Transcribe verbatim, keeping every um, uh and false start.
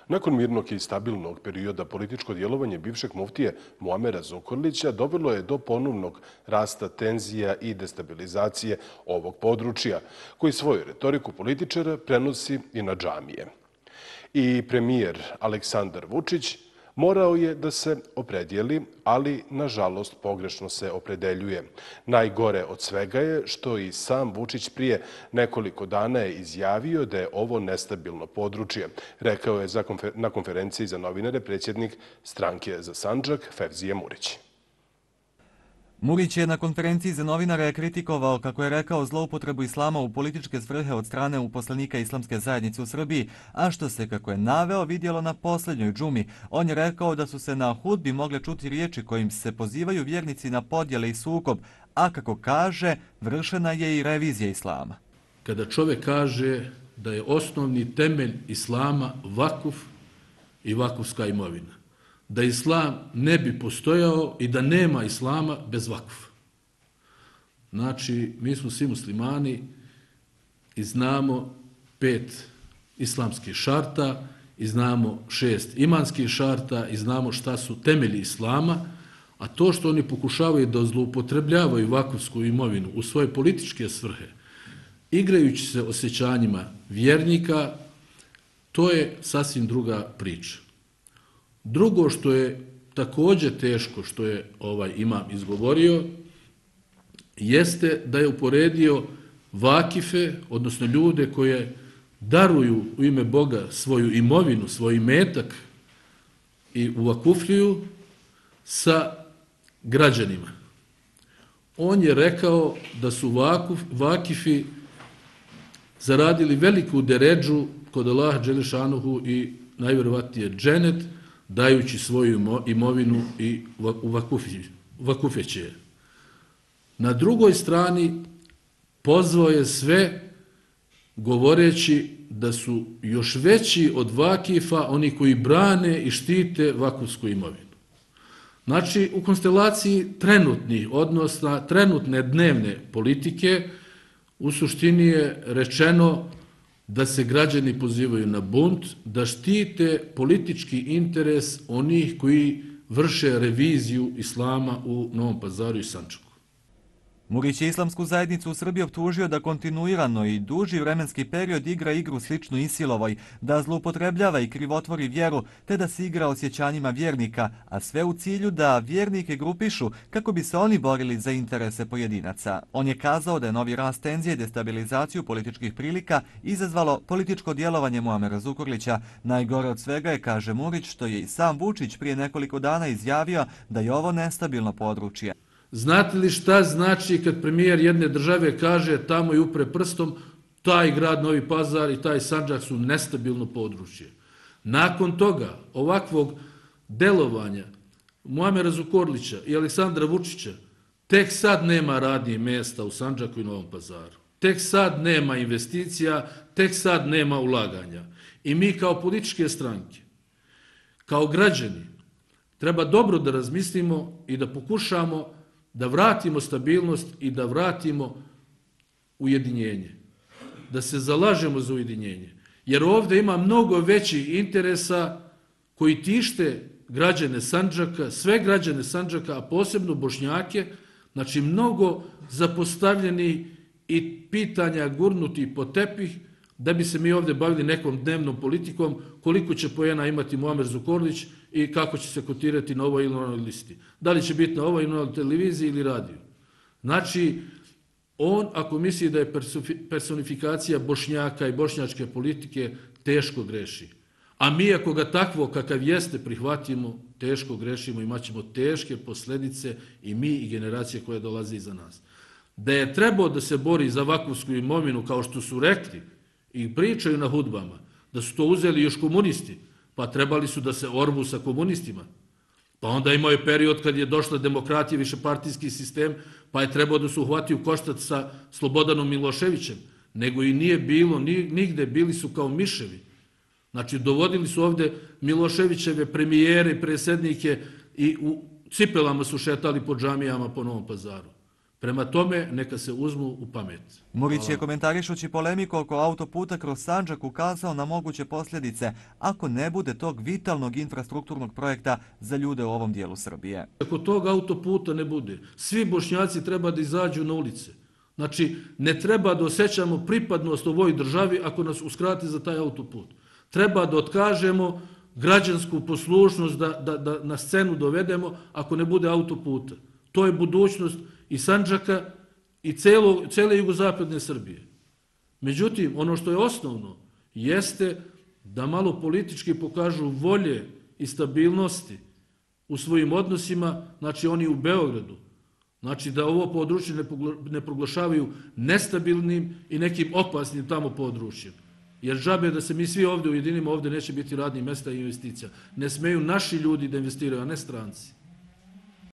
Nakon mirnog i stabilnog perioda političko djelovanje bivšeg muftije Muamera Zukorlića dovelo je do ponovnog rasta tenzija i destabilizacije ovog područja, koji svoju retoriku političara prenosi i na džamije. I premijer Aleksandar Vučić morao je da se opredijeli, ali nažalost pogrešno se opredeljuje. Najgore od svega je što i sam Vučić prije nekoliko dana je izjavio da je ovo nestabilno područje. Rekao je na konferenciji za novinare predsjednik Stranke za Sandžak Fevzije Murić. Murić je na konferenciji za novinare kritikovao, kako je rekao, zloupotrebu islama u političke svrhe od strane uposlenika Islamske zajednice u Srbiji, a što se, kako je naveo, vidjelo na posljednjoj džumi. On je rekao da su se na hudbi mogle čuti riječi kojim se pozivaju vjernici na podjele i sukob, a kako kaže, vršena je i revizija islama. Kada čovjek kaže da je osnovni temelj islama vakuf i vakufska imovina, da islam ne bi postojao i da nema islama bez vakufa. Znači, mi smo svi muslimani i znamo pet islamskih šarta, i znamo šest imanskih šarta, i znamo šta su temelji islama, a to što oni pokušavaju da zloupotrebljavaju vakufsku imovinu u svoje političke svrhe, igrajući se osjećanjima vjernika, to je sasvim druga priča. Drugo što je također teško, što je ovaj imam izgovorio, jeste da je uporedio vakife, odnosno ljude koje daruju u ime Boga svoju imovinu, svoj imetak i uvakufljuju sa građanima. On je rekao da su vakuf, vakifi zaradili veliku deredžu kod Allaha dželešanuhu i najvjerovatnije dženet, dajući svoju imovinu i vakufeće je. Na drugoj strani pozvao je sve govoreći da su još veći od vakifa oni koji brane i štite vakufsku imovinu. Znači, u konstelaciji trenutnih odnosa, trenutne dnevne politike, u suštini je rečeno da se građani pozivaju na bunt, da štite politički interes onih koji vrše reviziju islama u Novom Pazaru i Sandžaku. Murić je Islamsku zajednicu u Srbiji optužio da kontinuirano i duži vremenski period igra igru sličnu Isilovoj, da zloupotrebljava i krivotvori vjeru, te da se igra osjećanjima vjernika, a sve u cilju da vjernike grupišu kako bi se oni borili za interese pojedinaca. On je kazao da je novi rast tenzije i destabilizaciju političkih prilika izazvalo političko djelovanje Muamera Zukorlića. Najgore od svega je, kaže Murić, što je i sam Vučić prije nekoliko dana izjavio da je ovo nestabilno područje. Znate li šta znači kad premijer jedne države kaže tamo i upre prstom, taj grad Novi Pazar i taj Sandžak su nestabilno područje? Nakon toga, ovakvog delovanja Muamera Zukorlića i Aleksandra Vučića, tek sad nema radnih mjesta u Sandžaku i Novom Pazaru. Tek sad nema investicija, tek sad nema ulaganja. I mi kao političke stranke, kao građani, treba dobro da razmislimo i da pokušamo da vratimo stabilnost i da vratimo ujedinjenje. Da se zalažemo za ujedinjenje. Jer ovdje ima mnogo većih interesa koji tište građane Sandžaka, sve građane Sandžaka, a posebno Bošnjake, znači mnogo zapostavljeni i pitanja gurnuti po tepih, da bi se mi ovdje bavili nekom dnevnom politikom, koliko će poena imati Muamer Zukorlić i kako će se kotirati na ovoj ili onoj listi. Da li će biti na ovoj ili onoj televiziji ili radiju. Znači, on, ako misli da je personifikacija Bošnjaka i bošnjačke politike, teško greši. A mi, ako ga takvo kakav jeste prihvatimo, teško grešimo, imat ćemo teške posljedice i mi i generacije koje dolaze iza nas. Da je trebao da se bori za vakufsku imovinu, kao što su rekli i pričaju na hudbama, da su to uzeli još komunisti, pa trebali su da se orbu sa komunistima. Pa onda imao je period kad je došla demokratija, višepartijski sistem, pa je trebao da se uhvati u koštac sa Slobodanom Miloševićem. Nego i nije bilo, nigde bili su kao miševi. Znači, dovodili su ovde Miloševićeve premijere i predsjednike i u cipelama su šetali po džamijama po Novom Pazaru. Prema tome, neka se uzmu u pamet. Murić je komentarišući polemiku oko autoputa kroz Sandžak ukazao na moguće posljedice ako ne bude tog vitalnog infrastrukturnog projekta za ljude u ovom dijelu Srbije. Ako tog autoputa ne bude, svi Bošnjaci treba da izađu na ulice. Znači, ne treba da osjećamo pripadnost ovoj državi ako nas uskrati za taj autoput. Treba da otkažemo građansku poslušnost, da, da, da na scenu dovedemo ako ne bude autoputa. To je budućnost i Sandžaka i celo, cele jugozapadne Srbije. Međutim, ono što je osnovno jeste da malo politički pokažu volje i stabilnosti u svojim odnosima, znači oni u Beogradu. Znači da ovo područje ne proglašavaju nestabilnim i nekim opasnim tamo područjem. Jer džabe da se mi svi ovdje ujedinimo, ovdje neće biti radnih mjesta i investicija. Ne smeju naši ljudi da investiraju, a ne stranci.